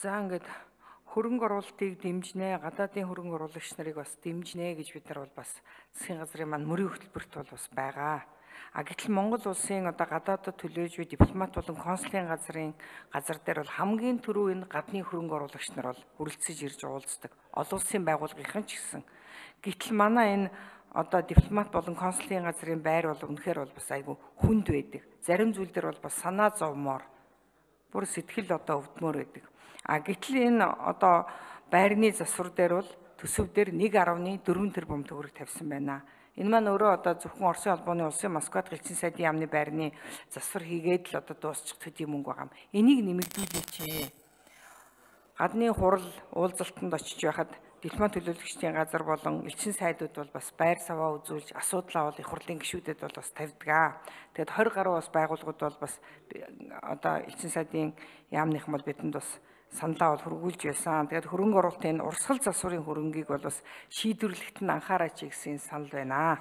За ингээд хөрөнгө оруулалтыг дэмжнэ, гадаадын хөрөнгө оруулагч нарыг бас дэмжнэ гэж бид нар бол бас засгийн газрын маань мөрийн хөтөлбөрт бол бас байгаа. Гэтэл Монгол улсын одоо гадаадд төлөөж буй дипломат болон консулын газар дээр бол хамгийн түрүү энэ гадны хөрөнгө оруулагч нар бол хүрэлцэж ирж уулздаг. Олон улсын байгууллагын ч гэсэн. Гэтэл манай энэ одоо дипломат болон консулын газрын байр бол үнэхээр бол бас айгүй хүнд байдаг. Зарим зүйл дээр бол бас санаа зовмоор бүр сэтгэл одоо өвдмөр байдаг. Гэтэл энэ одоо байрны засвар дээр бол төсөв дээр 1.4 тэрбум төгрөг тавьсан байна. Энэ маань өөрөө одоо зөвхөн Оросын холбооны улсын Москвад гэлцэн сайдын яамны байрны засвар хийгээд л одоо дуусчих төдий мөнгө байгаа юм. Энийг нэмэгдүүлээч. Гадны хурал уулзалтанд очиж байхад дипломат төлөөлөгчдийн газар болон элчин сайдууд бол бас байр саваа үзүүлж асуудлаа бол их хурлын гишүүдэд бол бас тавьдаг. Тэгэд 20 гаруй бас байгууллагууд бол бас одоо элчин сайдын яамныхан бол бидэнд бас саналаа бол хөргүүлж байсан. Тэгээд хөрөнгө оруулалтын урсгал засварын хөрөнгийг бол бас шийдвэрлэхэд нь анхаараач гэсэн санал байна.